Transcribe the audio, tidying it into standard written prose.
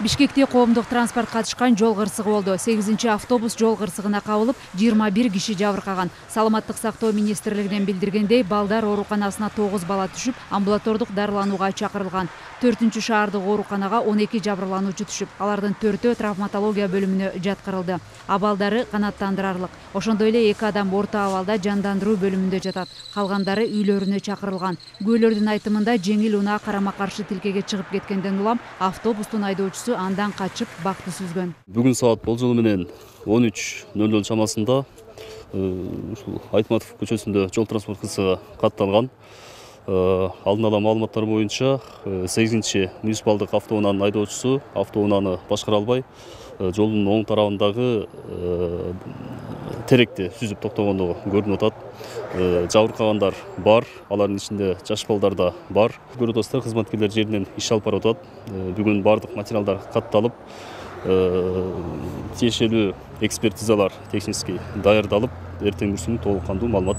Бишкекте коомдук транспорт катышкан жол кырсыгы болду. 8-автобус жол кырсыгына кабылып, 21 киши жабыркаган. Саламаттык сактоо министрлигинен билдиргендей, балдар ооруканасына 9 бала түшүп, амбулатордук дарыланууга чакырылган. 4-шаардык ооруканага 12 жабырлануучу түшүп, алардын 4-өө травматология бөлүмүнө жаткырылды. Абалдары канааттандырарлык. Ошондой эле 2 адам орто абалда жандандыруу бөлүмүндө жатат. Калгандары үйлөрүнө чакырылган. Күбөлөрдүн айтымында жеңил унаа карама-каршы тилкеге чыгып кеткенден улам автобустун айдоочусу андан качып бакты сүзгөн. Бүгүн саат болжол менен 13:00 чамасында ушул Айтматов көчөсүндө жол транспорт кырсыгы катталган. Алдын ала маалыматтар боюнча 8-муниципалдык автоунаанын айдоочусу автоунааны башкара албай, жолдун оң тарабындагы теректи сүзүп токтогондугу көрүнүп атат. Жабыркагандар бар, алардын ичинде жаш балдар да бар. Көрүп атасыздар, кызматкерлер жеринен иш алып барып атат. Бүгүн бардык материалдар катталып, тиешелүү экспертизалар технический даярдалып, эртең бүрсүнү толук кандуу маалымат